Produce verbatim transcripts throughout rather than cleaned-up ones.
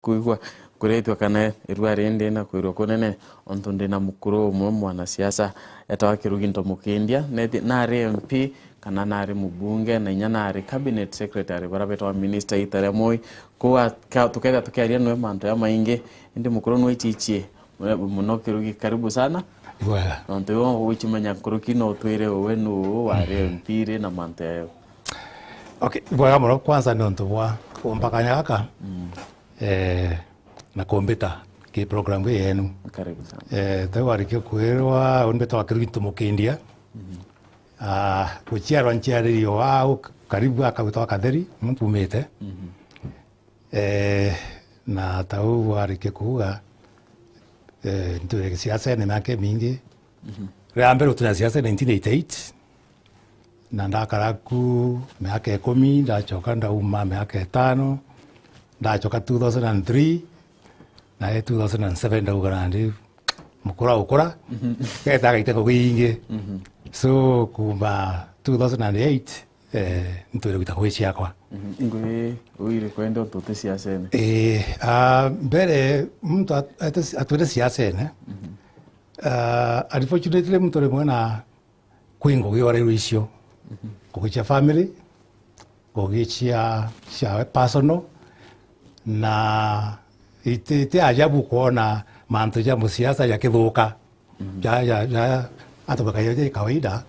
Kwigua kuritwa kana irua rindi na kwirwa kunene, ontu ndina mukuru umwe mwanasiasa etawa Kirugi Ntomukindia, nethi-, nari M P kana nari mubunge, na inya nari cabinet secretary, baria betawa minister ita ria Moi. Kou aka-, tukethira tukiaria nwe mantu ya maingi, indi mukuru nwe ichichie muno. Kirugi, karibu sana. Bwega. Nontu iwe ugwicimenya nkuruki, no utwire uwe nu wari M P ri na mantu yayo. Okay, bwega muno. Kwanza ni untu bwa kumpa kanya gaka, eh, na kumbita ki program ii yenu. Karibu sana. Eh, tau arikia kwirwa, umbita wa Kirugi Ntomukindia. Ah, guciarwa nciaririo au karibu akagwitwa Katheri, muntu umite. Eh, na tau arikia kuuga, eh, ntuire siasene miaka imingi. Ria mbere gutunya siasa nineteen eighty-eight, na ndakara ku miaka ikumi, ndachoka ndauma miaka itano, ndachoka two thousand and three, na i two thousand and seven ndauga nandi mukura ukura, geta gaite ngugi ingi. So, kuma two thousand and eight, eh, nitwire gwita ngugi ciakwa. Ngugi uu iriku indi untu uti siasene? Eh, ah, mbere muntu at-, ate-, atwire siasene, ah, unfortunately muntu rimwe na kwi ngugi oreirwe icio. Ngugi cia family, ngugi cia, cia personal, na iti, iti ajabu kwona mantu ja musiasa jakithuka. Ja, ja, ja, atumika ja, ja kawaida,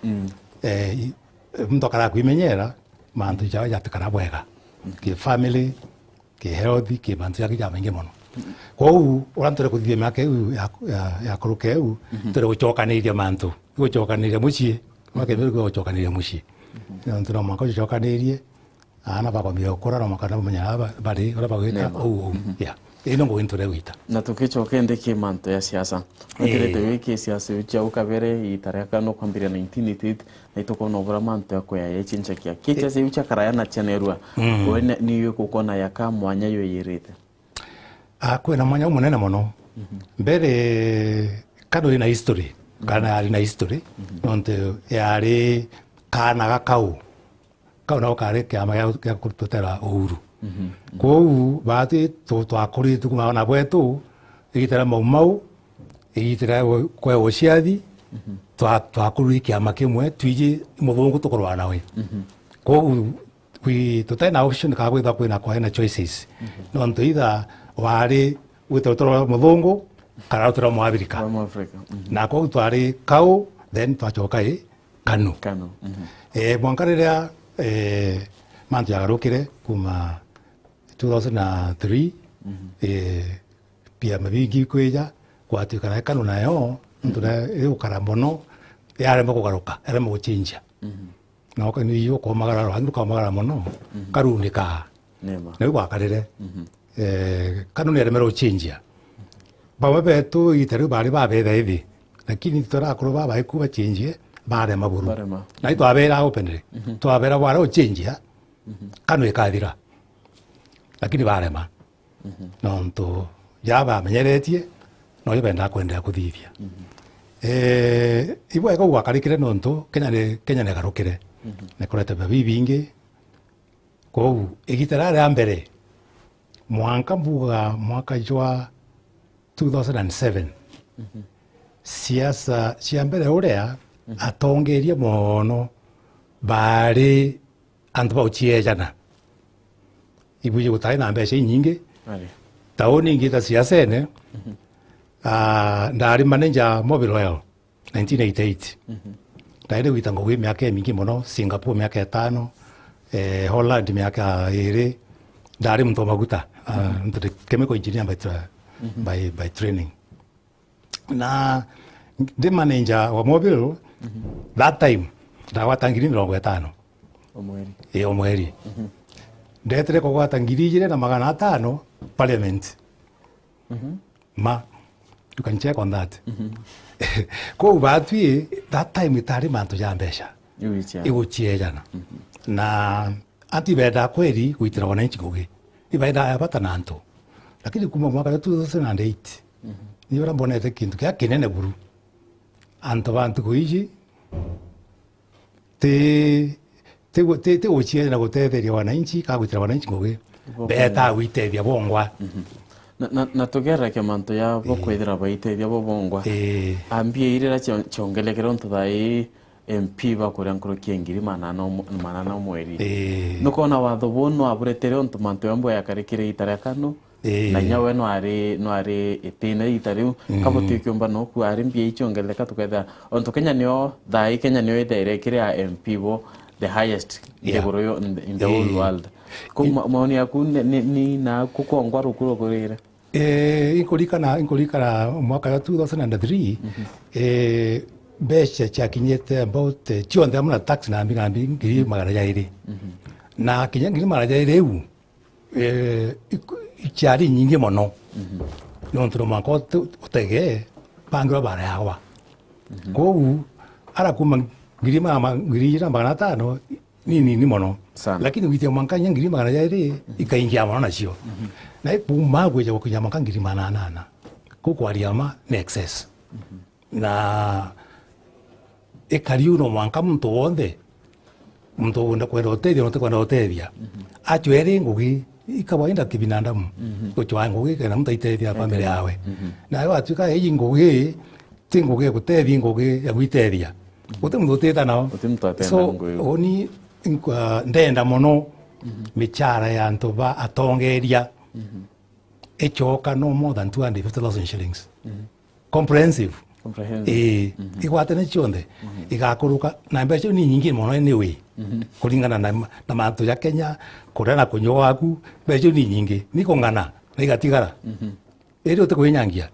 eh, i-, muntu akara kwimenyera, mantu ja, jatikara bwega. Ki family, ki health, ki mantu jaki jamaingi mono. Kwou, uria ntwire kuthithia miaka iu ya, ya, ya kuruka iu, ntwire gucokaniria mantu. Gucokaniria mucii. Mwaka iu gucokaniria mucii. Nontu no mwanka ucokanirie, aana bakwambia gukura, no mwanka bamenya aba bari, uria bagwika, uu, uu. Yeah. Ino ngugi ntwire gwita. Na tukicoka indi ki mantu ya siasa. Wikirite wi ki siasa iu cia ukabere, ita ria kana ukwambiria nineteen eighty-eight, na itukona ubura mantu ya kuya yechinchakia. Ki siasa iu cia karaya na cia nerua, we ni, ni yo kukona ya ka mwanya yo yirite? Ah, kwina mwanya umunene mono. Mbere, KANU ina history, kana yari na history, nontu yari kaana ga kau. Kau nako kari kiama gia, gia kututera uhuru. Kwou, baati tu-, twakuritue kuma na bwetu, igita ria Mau Mau, igita ria we-, kwe uciathi, twa-, twakurire kiama kimwe, twiji muthungu tukurwa nawe. Kwou, wi-, tutai na option kana gwithwa kwina, kwari na choices. Nontu either wari gwita rutere rwa muthungu, kana rutere rwa Mwafrika. Rwa Mwafrika. Na kwou twari kau, then twacoka i KANU. KANU. Eh, mwanka riria, eh, mantu jagarukire kuma two thousand and three, eh, biama bingi kwija, gwatuika na KANU nayo, nontu na igukara mono, yaremwa kugaruka, yaremwa guchinjia. Na uka-, ni ukomagara, rangi rukomagara mono, karunikaa. Nima. Na u gwakarire. Eh, KANU ni yaremere guchinjia. Bamwe betu igita riu bari babetha ithi. Lakini turi akuru baba iku bachinjie, barema buru. Barema. Na itwabera openly. Twabera bwara guchinjia, KANU ikathira. Lakini barema. Nontu ja bamenyeretie, noyo bendaa kwenderea kuthithia. Eh, ibwega u gwakarikire nontu Kenya ni, Kenya ni igarukire. Ni kurete biama bibingi. Kwou, igita riria ria mbere, mwanka mbuga mwaka jwa two thousand and seven, siasa cia mbere uria atongeria mono bari antu ba uciejana. Ibwiji gutari na mbeca inyingi. Ari. Tauni ingi ta siasene, ah, ndari manager Mobil Oil, nineteen eighty-eight. Ndaire gwita ngugi miaka imingi mono, Singapore miaka itano, eh, Holland miaka iri. Ndari muntu wa maguta, ah, ntu ndi chemical engineer by tra-, by, by training. Na ndi manager wa Mobil, that time, ndagwata ngiri mirongo itano. O mweri. Ii, o mweri. Ndetire kugwata ngiri ijiri na magana atano parliament. Ma, you can check on that. Kwou batwi, that time itari mantu ja mbeca. Iguciejana. Na antu ibendaa kweri gwitira wananchi ngugi. Ibendaa ya bata na antu. Lakini kuma mwaka wa two thousand and eight, ni uria mbonete kintu kia kinene buru. Antu ba ntuku iji ti, ti gu-, ti, ti guciethia na gutetheria wananchi, ka gwitira wananchi ngugi. Betaa gwitethia bongwa. Na, na, na tugereke mantu ya bo kwithira baitethia bo bongwa. Ii. Ambia irira cio-, ciongelekere untu thaa ii M P bakuria nkuruki ya ngiri manana umo-, manana umweri. Ii. Nukona watho buu nwaburetere untu mantu yambo yakarikire ita ria kanu, ii, na inya we nwari, nwari itine ita riu. Mm. Kabo twikiumba noku ari mbia iciongeleka tukethira untu Kenya nio, thaa ii Kenya nio ithaire ikiri ya M P bo the highest, yeah, nthiguru yo, in the, in the whole, ii, world. Ko ma-, maoni yaku ni, ni, ni na kukongwa ruku rukurire? Eh, inkuririkana, inkuririkana mwaka wa two thousand and three, mhm, eh, mbeca ciakinyite about, eh, cionthe amwe na tax na mbi na mbi ngiri magana jairi. Mhm. Na kinya ngiri magana jairi iu, eh, iku-, ciari nyingi mono. Mhm. Nontu no mwanka utu-, utege bangirwa bara yawa. Mhm. Kogu, ara kuma ngiri ma-, ma-, ngiri ijana magana atano, ni nini mono. Sana. Lakini gwitia mwanka inya ngiri magana jairi, mhm, ikaingia mono nacio. Mhm. Na ikuma gwija gukinya mwanka ngiri magana anana. Kuu kwaria ma ni excess. Mhm. Na ikari u no mwanka muntu wonthe, muntu wenda kwenda utethia na utikwenda utethia, mhm, acweri ngugi, i kawaida kibinadamu, mhm, gucwaa ngugi kenda muntu aitethia family yawe. Mhm. Nawe watwika iji ngugi, ti ngugi ya gutethia, ngugi ya gwitethia. Guti muntu utita nao. Guti muntu atenda. So, ngugi iu. Uni nkwa-, ndenda mono, mhm, michara ya antu ba atongeria, mhm, icoka no more than two hundred fifty thousand shillings. Mhm. Comprehensive. Comprehensive. Ii, mhm, igwatane cionthe, mhm, igakuruka, na mbeca iu ni nyingi mono anyway, mhm, kuringana na ma-, na mantu ja Kenya, kuria na kunyua gwaku, mbeca iu ni nyingi, ni kung'ana, na igatigara. Mhm. Iri uti kwinyangia.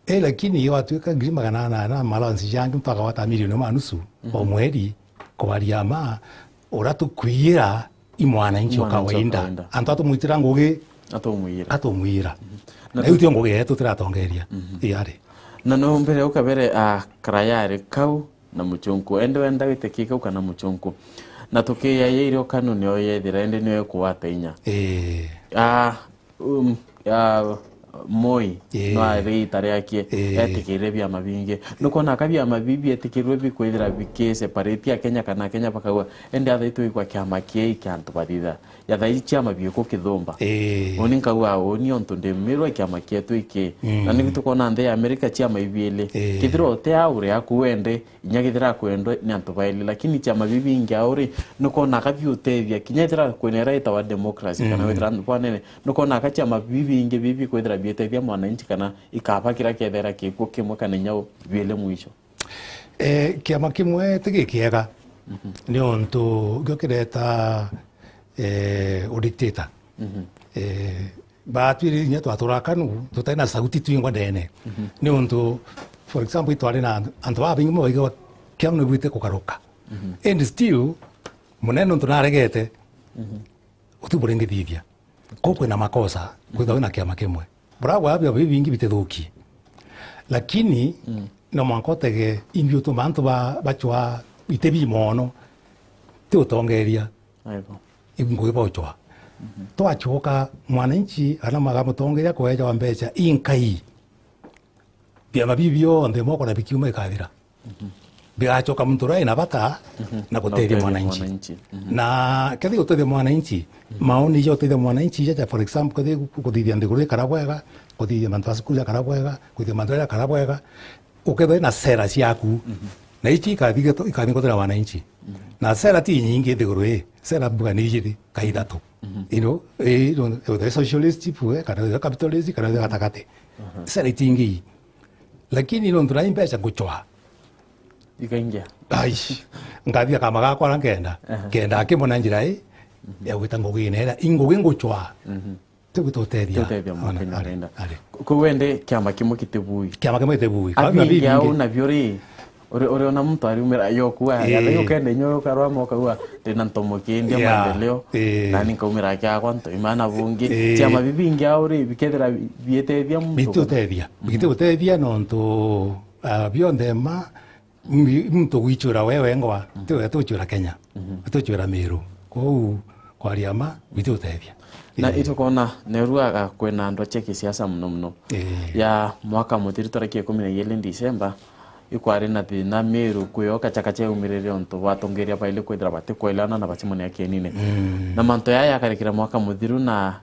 Eh, lakini iyo watwika ngiri magana anana ma allowance jangi, muntu akagwata milioni imwe na nusu o mweri, kwaria ma, uria tukwiyira i mwananchi o kawaida. Mwananchi o kawaida. Antu atumwitira ngugi, atumwiyira. Atumwiyira. Mhm. Na na iu tu- tio ngugi yetu tiratongeria. Mhm. Iyari. Na no mbere ukabere, ah, karayari kau na muchunku. Ende wenda witikie kau kana muchunku. Na tukiyayaire ukanu nio yethira, ende nio ikwata inya. Eh. Ah, Um, ya, Moi, ii, no ari ita riakie, ii, etikirire biama bingi. Nukwona ka biama bibi bietikirwe bikwithira bikiseparate Akenya kana Akenya bakauga, ende athaitwe igwa kiama kiai kia antu bathitha. Ya thaai ciama biku kithumba. Ii. Uni nkauga, uni ontu ndi Miru kiama kietu iki. Mm. Na nigu tukwona nthi ya America ciama ibiili. Ii. Kithira uti au ri aku wende, inya kethira akwendwa ni antu baeli, lakini ciama bibi bingi au ri, nukwona ka biutethia, kinya ethira kwina ira itawa democracy, kana, mm, wethira antu banene, nukwona ka ciama bibi bingi bibi kwithira bietethia mwananchi, kana ikaba kira kethira kikuo kimwe kana inya u-, biele mwisho? Eh, kiama kimwe ti gikiega, mhm, ni untu gio kireta, eh, udictator. Mhm. Eh, Batwire inya twatura kanu, tutai na sauti twingwa ndene. Mhm. Ni untu, for example, itwari na antu babaingi mono baigagwa kiama nibwite kugaruka. Mhm. And still, munene untu naregete, mhm, uti buringithithia. Kuu kwina makosa, kwithagwa na kiama kimwe. Buragwa abio bibingi bitithukie. Lakini, mm, no mwanka utege imbi utuma antu ba-, bacwa iti bi mono. Ti utongeria. Aibo. Ibu ngugi bauchwa. Mhm. Twachoka mwananchi, ana magamutongeria kweja wa mbecha inkai. Biama bibi bionthe moko na bikiuma ikathira. Mhm. Bigachoka muntu uria ina bata, mhm, na gutethia mwananchi. Mhm. Na kethi gutethia mwananchi, mhm, maoni ja gutethia mwananchi ja, ja, for example, kethi kuthithia nthiguru ikara bwega, kuthithia mantu ma cukuru jakara bwega, kuthithia mantu jakara bwega, ukethwa na sera ciaku, mhm, na ici ikathi geto-, ikathi gutethia wananchi. Mhm. Na sera ti nyingi nthiguru ii, sera mbuga ni ijiri ka ithatu. Mhm. You know, eh, you know, whether socialist, pue, kana whether capitalist, kana whether gatagati. Mhm. Sera itingi. Lakini nontu nai mbeca nguchwa. Ikaingia. Ai, ngathi akama gakwa ara nkenda. Aha. Kenda akimona njira ii, mhm, ya gwita ngugi ina ira, ingugi nguchwa. Mhm. Ti gwita utethia. Ti utethia mukenya ari, arenda. Ari. Ku-, ku wende kiama kimwe kitibui. Kiama kimwe kitibui. Kwa bibi bingi au nabio ri, uri, uri ona muntu ariumira yoku, eh, ya, ukenda inyo ukarwa moka ua, ndina ntomo kindi, yeah, maendeleo. Eh. Nani nkaumira kiakwa ntoima na bungi. Eh. Ciama bibingi au ri, bikethira bietethia muntu. Biti utethia. Mhm. Biti utethia nontu, ah, bionthe ma, mi-, muntu gwichura we wengwa, mhm, ti we tuchura Kenya. Mhm. Tuchura Miru. Kou, kwaria ma, biti utethia. Na, eh, itukona nerua kwina andu ache kisiasa muno muno. Eh. Ya mwaka muthiru tariki ikumi na igiri December, ikwari na thina Miru kwio kacha kacha yaumirire untu batongeria baili kwithira batikwelewana na bacimania kienine. Mm. Na mantu yaya yakarikira mwaka muthiru na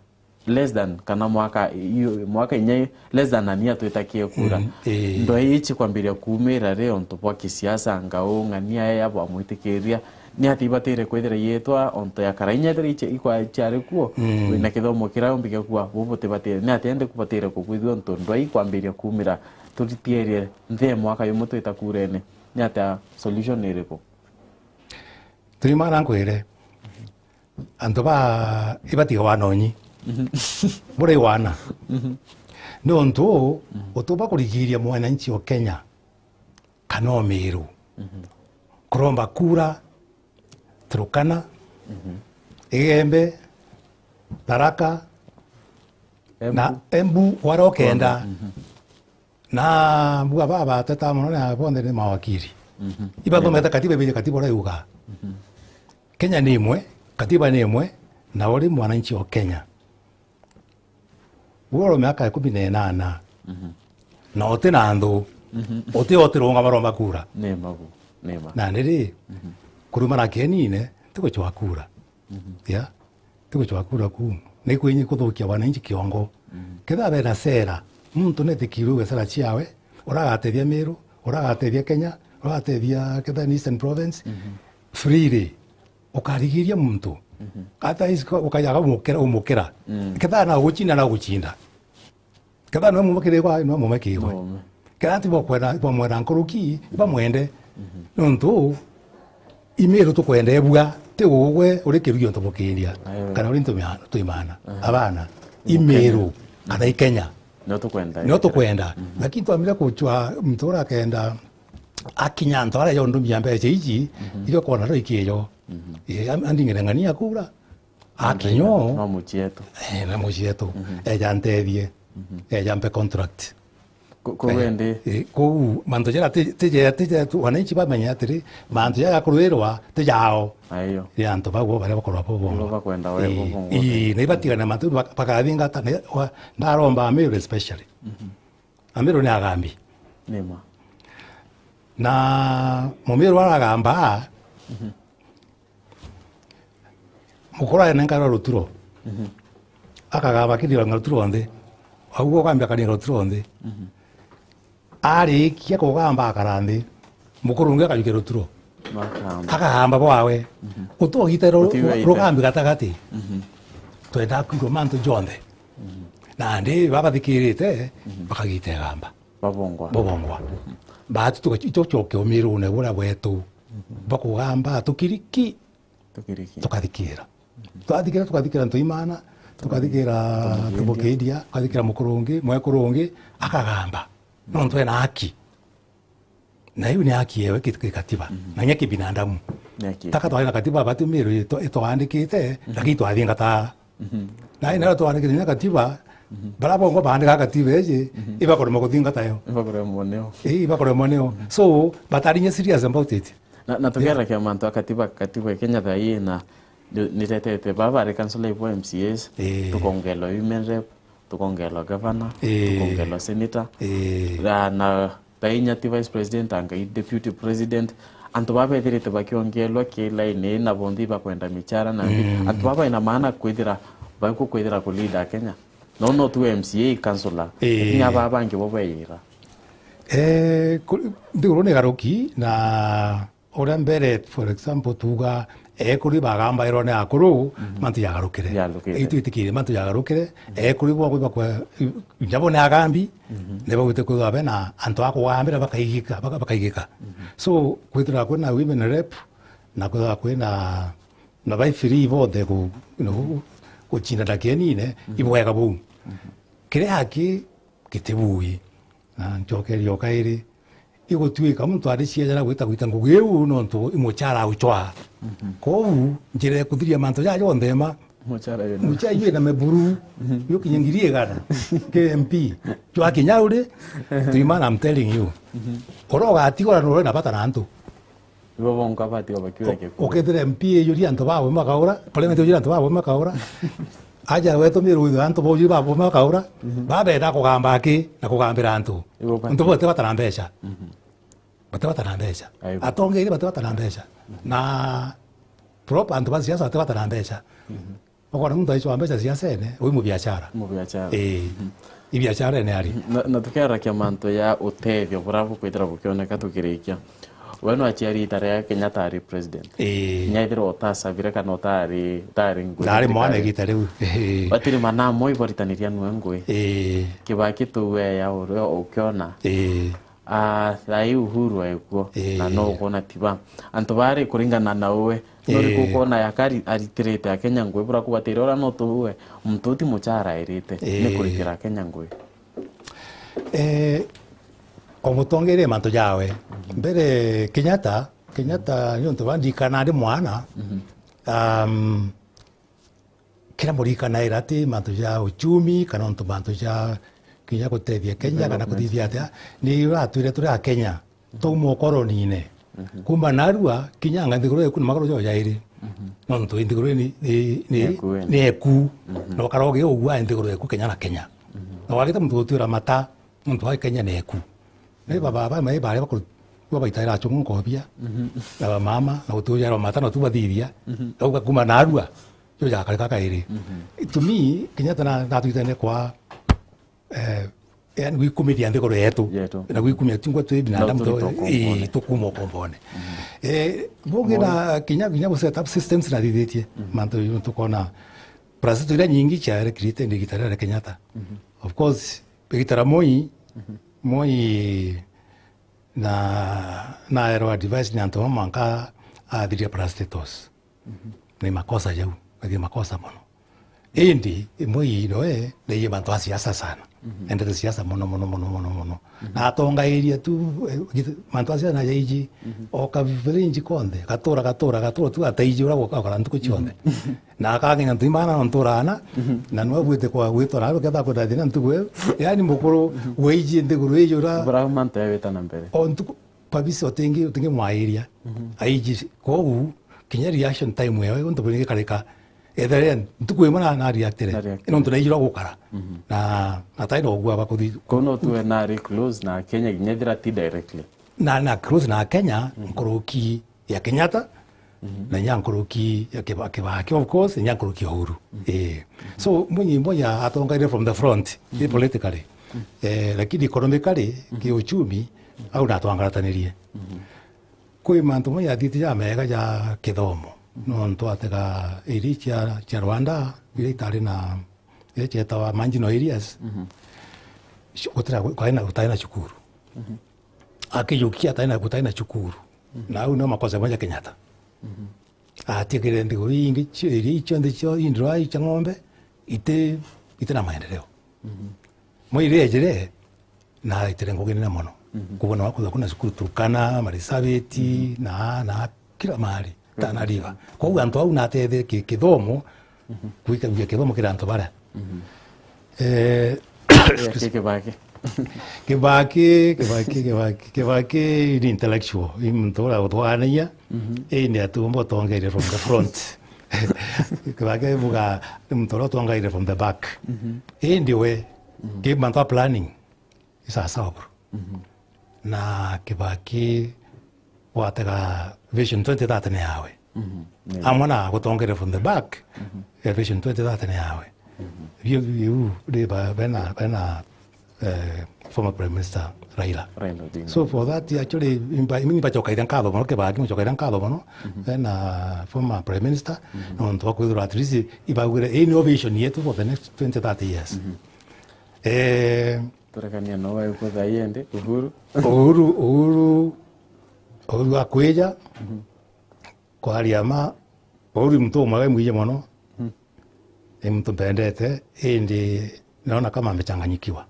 less than, kana mwaka, iyo, mwaka inya less than a year twitakie kura. Mm, ii. Ndwai ici kwambiria kuumira ri, ontu bwa kisiasa, ngau, ng'ania ya bwamwitikiria, ni atia ibatire kwithira yitwa ontu ya kara inya ethira ici ikwa ciari kuo, mm, wina kithomo kiria umbi gia kuwa, bu butibatire, ni atia indi kubatire kukwithua ontu ndwai kwambiria kuumira, turitirie nthi ya mwaka yumwe twita kurene, ni atia solution iriku? Turimana nkwire, antu ba ibatiga wana unyi. Mhm. Buri wana. Mhm. Ni untu uu, mhm, utuba kurigiria mwananchi o Kenya kana o Miru. Mhm. Kuromba kura, Turukana, mhm, Igembe, Tharaka, Embu, na Embu, wara ukenda. Mhm. Na mbuga baba bateta mono na bonthe ni mawakiri. Mhm. Ibathomete katiba, ibiji katiba uria yuga. Mhm. Kenya ni imwe, katiba ni imwe, na uri mwananchi o Kenya. Uri miaka ikumi na inana. Mhm. Na uti na nthu. Mhm. Uti utirunga maromba kura. Ni ma bu, ni ma. Na ni ri, mhm, kurumana kienine, ti gucwa kura. Mhm. Ya? Ti gucwa kura ku. Ni kwinyi kuthukia wananchi kiongo. Mhm. Kethira bena sera, muntu netikirwe uge sera ciawe, uragatethia Miru, uragatethia Kenya, uragatethia kethira ni Eastern Province, mhm, freely, ukarigiria muntu. Mhm. Hata isi kwa-, ukajaga umukira, umukira. Mm. Kethira na guchinda, na guchinda. Kethira nwe mumekirigwa, nwe mumekirigwe. Nwe mume. Kethira ti bwakwenda, bwamwenda nkuruki, bamwende. Mhm. Nontu, i Miru tukwenda ebua, ti ugwe uri kirugi ontu bukiria. Ayo. Kana uri ntu mia-, tuimana. Aha. Abana. I Miru, kana i Kenya. Nio tukwenda. Nio tukwenda. Mhm. Lakini twamire kuchwa mtu uria akenda akinya antu aria yondumia mbeca iji, mhm, iria kwona ro ikiyo. Mhm. Eh, am-, andingire ng'ania kura. Akinyo. No mucietu. Eh, na mucietu. Mhm. Eja ntethie. Mhm. Eja mpe contract. Ku-, ku-, eh, wendi. Eh, kou, mantu jara ti, ti je, ti je tu, wananchi bamenye atiri, mantu jara kurwirwa, ti jao. Aiyo. Ni antu bau bo baria bakorwa bo bongo. Nibo bakwenda we, eh, bo bongo. Ii, na ibatigane mantu bak-, bakathingata, na wa, ndaromba Amiru especially. Mhm. Amiru ni agambi. Ni ma. Na Mumiru aragamba, mhm. Mukuru aenenkarwa ruturo. Mhm. Akagamba akiringa ruturo nthi. Au ugambia akaringa ruturo nthi. Mhm. Arikia kugamba akara nthi. Mukuru ungi akajukia ruturo. Makamba. Akagamba bwawe. Mhm. Utogite ru-, utiwete rugambi gatagati. Mhm. Twenda kwigua mantu jonthe. Mhm. Nandi babathikirite, mhm, bakagita igamba. Babongwa. Babongwa. Mhm. Baatu tuga-, itucoke umirune buria bwetu. Mhm. Bakugamba tukiriki. Tukiriki. Tukathikira. Twathikira, tukathikira Ntoimana, tukathikira Tumukiendia. Tumukiendia, tukathikira Mukurungi, Mwekurungi, akagamba. Nontu ena haki. Na iu ni haki yewe ki-, kikatiba. Mhm. Na nya kibinadamu. Ni haki. Taka twari na katiba batu Miru ito-, itwandikite, mhm, lakini twathingata. Mhm. Na ina twandikite nya katiba, mhm, bara bongo bandika katiba iji, mhm, ibakurema kuthingata yo. Ibakuremwa nio. Ii, ibakuremwa nio. Mhm. So, batari nya serious about it. Na, na tukiarakia mantu a katiba, katiba ya Kenya thaa ii na ni, niretete baba ari councillor ibo M C As, ii, tukongelwa women rep, tukongelwa governor, ii, tukongelwa senator. Ii. Na, na thaa inya ti vice president, anga i deputy president. Antu baba bethirite bakiongelwa ki line na bonthe ibakwenda michara na nthi. Mm. Antu baba ina maana kwithira, baku kwithira ku leader Kenya. No, no tu M C A, councillor. Ii. Lakini aba bangi bo bayira. Eh, ku-, nthiguru ni garuki na Uria mbere, for example, tuga ekuri bagambairwa ni akuru, mhm, mantu jagarukire. Jagarukire. Itu itikire mantu jagarukire, mhm, ekuri bo bakwa, njabo ni agambi, mhm, ni bagwite kwithirwa bena antu a kugambira bakaigika, baka-, bakaigika. Mhm. So, kwithirwa kwina women rep, na kwithirwa kwina na bai free bonthe ku-, you know, gucindana kienine, mhm, ibwega buu. Mhm. Kiria aki gitibui. Na ncokeria o kairi, igutwika muntu ariciejera gwita gwita ngugi iu nontu i muchara auchwaa. Mhm. Kwou, njira ya kuthiria mantu jaja jonthe ma, muchara wina, muchara wina meburu, mhm, yukinye ngiri igana, K M P, jwakinya uri, tuimana, I'm telling you. Mhm. Uria ugatigwa na uria na bata na antu. Ibo bonka batiga bakiura gikuru. Ukethira M P ijuri antu babo makaura, parliament ijuri antu babo makaura. Aja wetu Miru withwe antu bojuri babo makaura, mhm, babenda kugamba aki na kugambira antu. Ibo bati- Antu bote batara mbeca. Mhm. Bate batara mbeca. Aibu. Atongeria bate batara mbeca. Mhm. Na prop antu ba siasa bate batara mbeca. Mhm. Ukona muntu aicwa mbeca ciacene, ui mubiashara. Mubiashara. Ii. I biasharene ari. Na, na tukiarakia mantu ya utethio buria bukwithira bukioneka tukirikia. We nwaciari ita ria Kenyatta ari president. Ii. Kinya ethirwa utacabire kana utari, utari ngui. Ndari mwana igita riu. Ii. Batiri manamo iboritaniria nwe ngui. Ii. Kibaki tu we ya urio ukiona. Ii. Ah, thaa ii Uhuru ekuo, ii, na no ukwona tiba. Antu bari kuringana na uwe, no uriku, ii, ukwona yaka ari-, aritirite Akenya ngui, bura kubatira uria no tuwe, muntu uti muchara airite, ii, ni kuritira Akenya ngui? Eh, o mutongeria mantu jawe. Mbere Kenyatta, Kenyatta ni untu bandikana ndi mwana, mhm, um, kira murikanaira ati mantu ja uchumi, kana untu mantu ja kinya gutethia Kenya, kana development, kuthithia atia, ni uratwire turi a Kenya, twauma ukoronine. Mhm. Kuma narua, kinya anga nthiguru eku ni maguru jo jairi. Mhm. Nontu nthiguru ni, ni, ni, ni eku. Mhm. Na ukara ugi ugua nthiguru eku Kenya na Kenya. Mhm. Na wagita muntu gutwira mata, muntu wa Kenya ni eku. Ni baba, baba, mai bare bakuru, babaitaira achungu nkobia. Mhm. Na bamama, na gutujaira mata, na tu bathithia. Mhm. Auga kuma narua. Jo jakarika kairi. Mhm. To me, Kenyatta na, natwitene kwa, eh, yani gwikumithia nthiguru yetu. Yetu. Na gwikumia tungwa twi binadamu. Na tu, turi to, ii, tukuuma ukombone. Mhm. Eh, bungi na kinya, kinya gu set up systems na thithitie. Mhm. Mantu ju tukona plus tu iria nyingi ciarekirite ni igita ria Kenyatta. Mhm. Of course, igita ria Moi, mhm, Moi na, naerwa advice ni antu bamwe mwanka athiria parastatos. Mhm. Ni makosa jau, ni makosa mono. Indi, imwe ii noe, ni mantu a siasa sana. Mhm. Endete siasa mono, mono, mono, mono, mono. Mhm. Na atongairia tu, eh, gith-, mantu a siasa na jaiji, mhm, o ka village konthe, gatura, gatura, gatura tu ataiji ura gukakora ntuku cionthe. Mhm. Na akang'enya ntu imana no ntura ana, mhm, na nwe bwite kwa gwitwa na ruketha kwenda thina ntuku iyo. Yani mukuru, mhm, waiji nthiguru iji ura. Bura mantu ya wita na mbere. O ntuku, kabisa utingi, utingi mwairia. Mhm. Aiji, kogu, kinya reaction time yawe, untu bwingi karika. Ethere ntuku imwe na, na reactire. Na reactire. Nontu naijirwa gukara. Mhm. Na atai na ugua bakuthi. Kono tuwe na ari close na Kenya, kinya thira ti directly. Na, na close na Kenya, mhm, nkuruki ya Kenyatta, mhm, na inya nkuruki ya Kiba-, Kibaki, of course, inya nkuruki ya Uhuru. Mhm. Eh. So, Mwinyi, Mwinyi atongaire from the front, mhm, politically. Mhm. Eh, lakini economically, mhm, kiuchumi, au natwangaratanirie. Mhm. Kwi mantu mamwe jathithite ja mega ja kithomo. Mhm. Nontu atega iria cia, cia Rwanda, iria itari na, iria cietawa marginal areas, mhm, cio-, gutira, gutari na, gutari na cukuru. Mhm. Akijukia atari na, gutari na cukuru. Mhm. Na au nio makosa mamwe ja Kenyatta. Mhm. Atigire nthiguru ingi cio, iria cionthe cio indwai cia ng'ombe, iti, iti na maendeleo. Mhm. Moi iria ejire, na aitire ngugi nene mono. Mhm. Kuona wakuthwa kuna cukuru Turkana, Marisabit, mhm, na, na kila mahali. Tana River. Koguo antu au natethe ki-, kithomo, mhm, gwikagia kithomo kiri antu baria. Mhm. Eh, yeah, excuse. Ki-, Kibaki. Kibaki, Kibaki, Kibaki, Kibaki ni intellectual. Ni muntu uria utwanagia, mhm, indi atumba utongeria from the front. Kibaki buga ni muntu uria utongeria from the back. Mhm. Indi we, mhm, ki mantu a planning, isasawa buru. Mhm. Na Kibaki watega Vision twenty thirty ni yawe. Mhm. Yeah. Amwe na gutongeria from the back, mhm, eh, Vision twenty thirty ni yawe. Mhm. Biu, biu, ri ba-, bena, bena, eh, former Prime Minister Raila. Raila Odinga. So for that, actually, imba-, imba chokaira nkatho mono, Kibaki, chokaira nkatho mono, mhm, bena former Prime Minister, mhm, nontu wa kwithirwa at least ibaugire, "Ii nio vision yetu for the next twenty, thirty years." Mhm. Eh, Turekania no waigua thaa ii indi, Uhuru. Uhuru, Uhuru, Uhuru akwija, mhm, kwaria ma, Uhuru ni muntu umwe mwiji mono, mhm, ni muntu mpendete, indi naona kama amechanganyikiwa.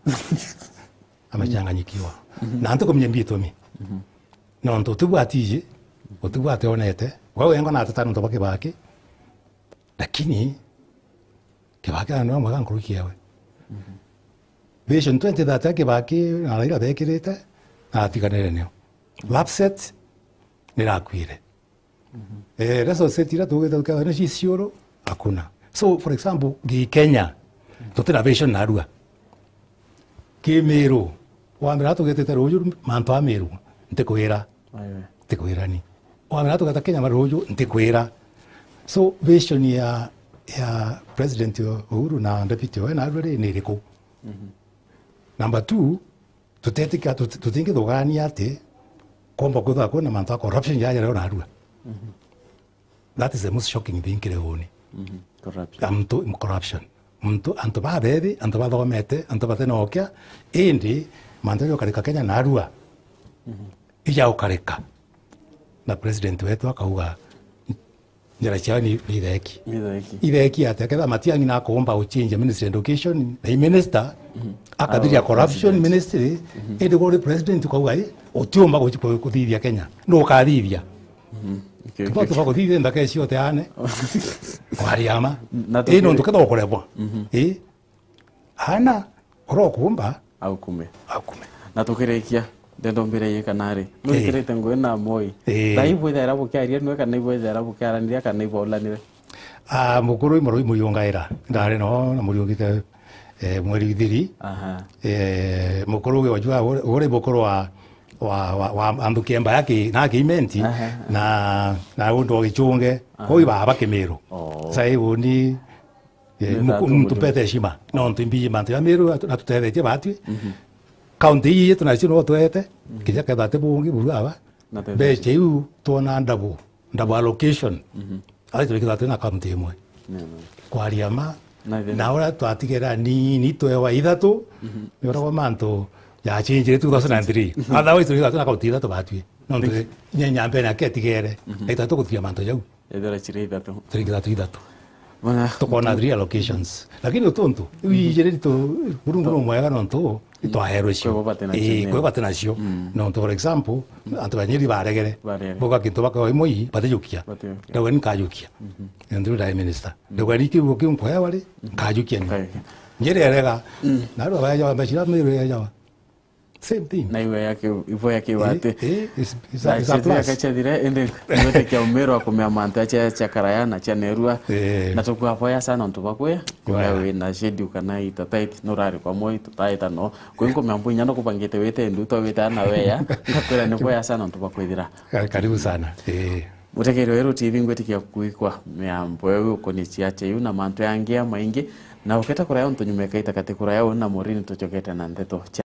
Amechanganyikiwa. Mhm. Na ntikumenya mbitumi. Mhm. Nontu utibwatiji, utibwate onete, we wengo na ateta nontu bwa Kibaki, lakini Kibaki ni mwega nkuruki yawe. Mhm. Vision twenty thirty ya Kibaki na Raila bekirite, na atiganire nio. Lapset nirakuire. Mhm. Eh, resources iria tugite tukethwa ni ciciuru, hakuna. So, for example, gi Kenya, tutina vision narua. Kimiru, wambira tugitite ruju, mantu a Miru, ntikwira. Aye. Ntikwira ni. Wamenya tugeta Kenya maruju, ntikwira. So, vision ya, ya President Uhuru na deputy we Narua ri ni iriku? Number two, tutetikia, tut-, tutingithugania ati komba kwithirwa kwina mantu a corruption jaja reo Narua. That is the most shocking thing kiri uuni. Corruption. Antu, corruption. Muntu, antu babethi, antu bathomete, antu batenokia, indi mantu jaja ukarika Kenya Narua. Ija ukarika. Na president wetu akauga, njira ciao ni, ni itheki. Ni itheki. Itheki atia? Ketha Matiang'i na akomba guchinja Ministry of Education, na i minister, akathiria corruption ministry, indi guri president ukauga, "Ii, utiumba guci-, ku-, kuthithia Kenya." Nu ukathithia? Tuba tuba kuthithia ndaka icio uteane. Kwaria ma. Na ii, nontu ketha ukuremwa. Ii. Ana, uria ukumba, aukume. Aukume. Na tukirikia, ndenda umbire ii kana ri, nu wikirite ngugi na Moi. Ii. Thaa ii bwithaira bukiaria nwe kana ibwithaira bukiaraniria kana ibaulanire? Ah, mukuru i Murui Muriungaira. Ndari no na Muriungite, eh, mweri ithiri. Aha. Eh, mukuru ugi wajua uri, uri mukuru wa, wa, wa, wa antu kiemba ya ki-, na ki Imenti, aha, na, na untu wa Gichunge. Aha. Kuu i baba Kimiru. Oh. Sai uni Eh, ni muku-, tatu muntu mutu. Mpete heshima. Nontu imbiji mantu ja Miru atu-, natutethetie batwi. Kaunti ii yetu nacio no twete, kija ketha ati bungi buru aba. Mbecha iu twona double, double allocation. Ari turikitha twina kaunti imwe. Kwaria ma, na uria twatigera nini twewa ithatu, ni uria kwa mantu jachinjire two thousand and three. Otherwise turikitha twina kaunti ithatu batwi. Nontu nyenya mbere yake atigere, na ithatu guthia mantu jau. Ethira ciri ithatu. Ciringi ithatu ithatu. Tukona three allocations. Lakini utuntu, iu ijiri tu, Murungu no mwega nontu, itwaherwe cio. Kwe bo bati nacio. Ii, kwe bati nacio. Nontu, for example, antu ba Nyeri baregere. Baregere. Boka kintu baka imwe ii, batijukia. Batijukia. Ndauga ni nkajukia. Nontu ndai minister. Ndauga ni kiugo kiu nkwewa ri, nkajukia ni. Nkajukia. Nyeri erega. Na ru abaja, mbecira Meru ejawa. Same thing. Na iwe yake, ibo yake wate. Eh, eh, it's, it's a, it's a plus. Kachathire, ende, iwete kia umero akumea mantu acha cha karaya na cha nerua. Eh. Na tukwaboya sana ntu bakwe. Kwaya. Wewe na schedule kana ita tight, no rari kwa Moi, tutaita no. Kwinko mambo inya no kubangite wete ndu to weta na weya. Ngakwira ni boya sana ntu bakwithira. Ka-, karibu sana. Eh. Mutegeri wa Weru T V ngwitikia kuigua miambo eu ukoni ciache iu na mantu yangi ya maingi, na uketa kuraya untu nyuma ikaita kati kuraya uu na Morini tuchokete na ndeto cia